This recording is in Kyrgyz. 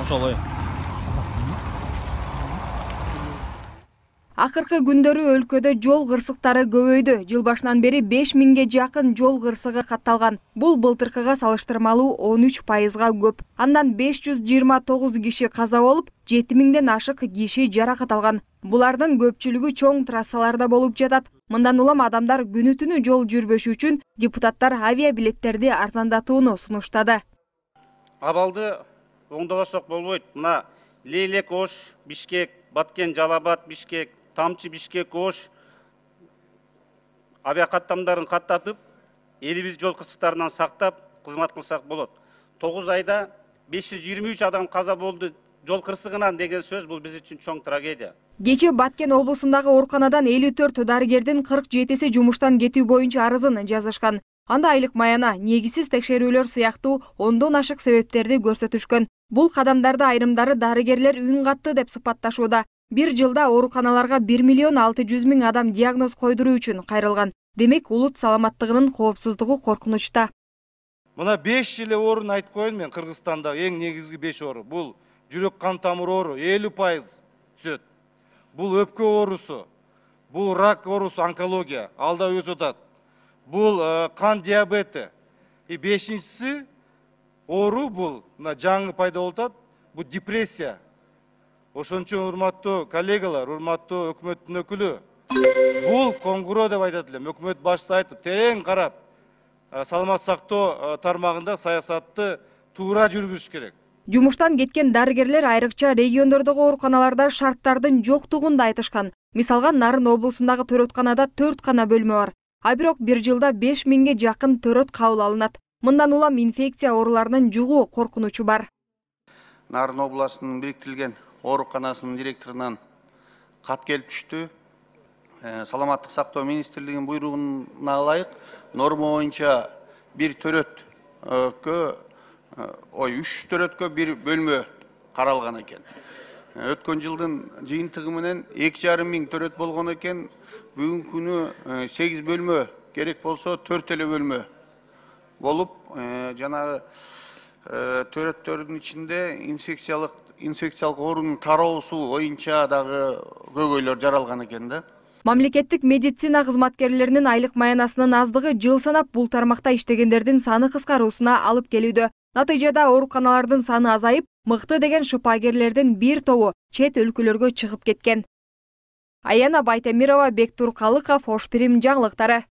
ошолой. Акыркы күндөрү өлкөдө жол кырсыктары көбөйдү. Жыл башынан бери 5000ге жакын жол кырсыгы катталган. Бул былтыркыга салыштырмалуу 13%га көп. Андан 529 киши каза болуп, 7000ден ашык киши жаракат алган. Булардын көпчүлүгү чоң трассаларда болуп жатат. Мындан улам адамдар күнү түнү жол жүрбөшү үчүн депутаттар авиабилеттерди арзандатууну сунуштады. Абалды оңдобосок болбойт. Мына Лейлек Ош, Бишкек, Баткен Жалабат, Бишкек, Тамчы Бишкек Ош авиакаттамдарын каттатып, элибиз жол кырсыктарынан сактап кызмат кылсак болот. 9 айда 523 адам каза болду жол кырсыгынан деген сөз бул биз үчүн чоң трагедия. Кечээ Баткен облусундагы ооруканадан 54 дарыгердин 47си жумуштан кетүү боюнча арызын жазышкан. Анда айлык маяна, негизсиз текшерүүлөр сыяктуу ондон ашык себептерди көрсөтүшкөн. Бул кадамдарды айрымдары дарыгерлер үн катты деп сыпатташууда. Бир жылда ооруканаларга 1 миллион 600 миң адам диагноз койдуруу үчүн кайрылган. Демек, улут саламаттыгынын коопсуздугу коркунучта. Мына 5 эле оорун айтып коеюн мен. Кыргызстанда эң негизги 5 оору. Бул жүрөк кан тамыр оору 50% түзөт. Бул өпкө оорусу, бул рак оорусу, онкология, алда өзү атат. Бул кан диабети. 5-инчиси оору бул жаңы пайда болуп атат. Бул депрессия. Ошон үчүн урматтуу коллегалар, урматтуу өкмөттүн өкүлү, бул коңгуроо деп айтат элем. Өкмөт башчысы айтып, терең карап, саламат сактоо тармагында саясатты туура жүргүзүш керек. Жумуштан кеткен дарыгерлер айрыкча региондордогу ооруканаларда шарттардын жоктугун да айтышкан. Мисалга, Нарын облусундагы төрөтканада 4 гана бөлмө бар. А бирок бир жылда 5000ге жакын төрөт кабыл алынат. Мындан улам инфекция ооруларынын жугуу коркунучу бар. Нарын областынын бириктирилген ооруканасынын директорунан кат келип түштү. Саламаттык сактоо министрлигинин буйругуна ылайык норма боюнча бир төрөткө 3 төрөткө бир бөлмө каралган экен. Өткөн жылдын жыйынтыгы менен 2,5 миң төрөт болгон экен. Бүгүнкү күнү 8 бөлмө керек болсо 4 эле бөлмө болуп, жанагы төрөттөрдүн ичинде инфекциялык оорунун тароосу боюнча дагы көйгөйлөр жаралган экен да. Мамлекеттик медицина кызматкерлеринин айлык маянасынын аздыгы жыл санап бул тармакта иштегендердин саны кыскаруусуна алып келүүдө. Натыйжада ооруканалардын саны азайып, мыкты деген шыпагерлердин бир тобу чет өлкөлөргө чыгып кеткен. Аяна Байтемирова, Бектур Калыков, Ош Пирим жаңылыктары.